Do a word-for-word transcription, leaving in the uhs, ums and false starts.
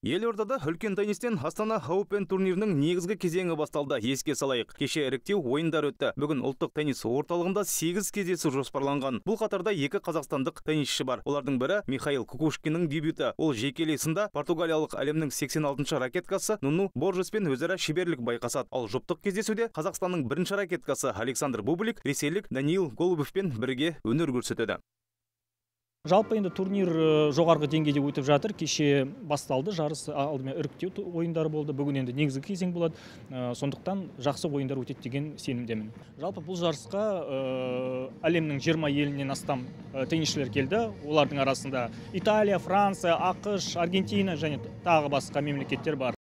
Елордада үлкен теннистен Астана Open турнирінің негізгі кезеңі басталды. Еске салайық, кеше іріктеу ойындар өтті. Бүгін ұлттық теннис орталығында сегіз кездесу жоспарланған. Бұл қатарда екі қазақстандық теннисші бар. Олардың бірі Михаил Кукушкиннің дебюті. Ол жекелей сында португалиялық әлемнің сексен алтыншы ракеткасы Нуну Боржеспен өзара шеберлік байқасады. Ал жұптық кездесуде Қазақстанның бірінші ракеткасы Александр Бублик ресейлік Даниил Голубевпен бірге өнер көрсетеді. Жалпы енді турнир жоғарғы деңгейде өтіп жатыр. Кеше басталды, жарыс алдымен іріктеу ойындары болды. Бүгін енді негізгі кезең болады. Сондықтан жақсы ойындар өтеді деген сенімдемін. Жалпы бұл жарысқа әлемнің жиырма елінен астам теннисшілер келді. Олардың арасында Италия, Франция, ақш, Аргентина және тағы басқа мемлекеттер бар.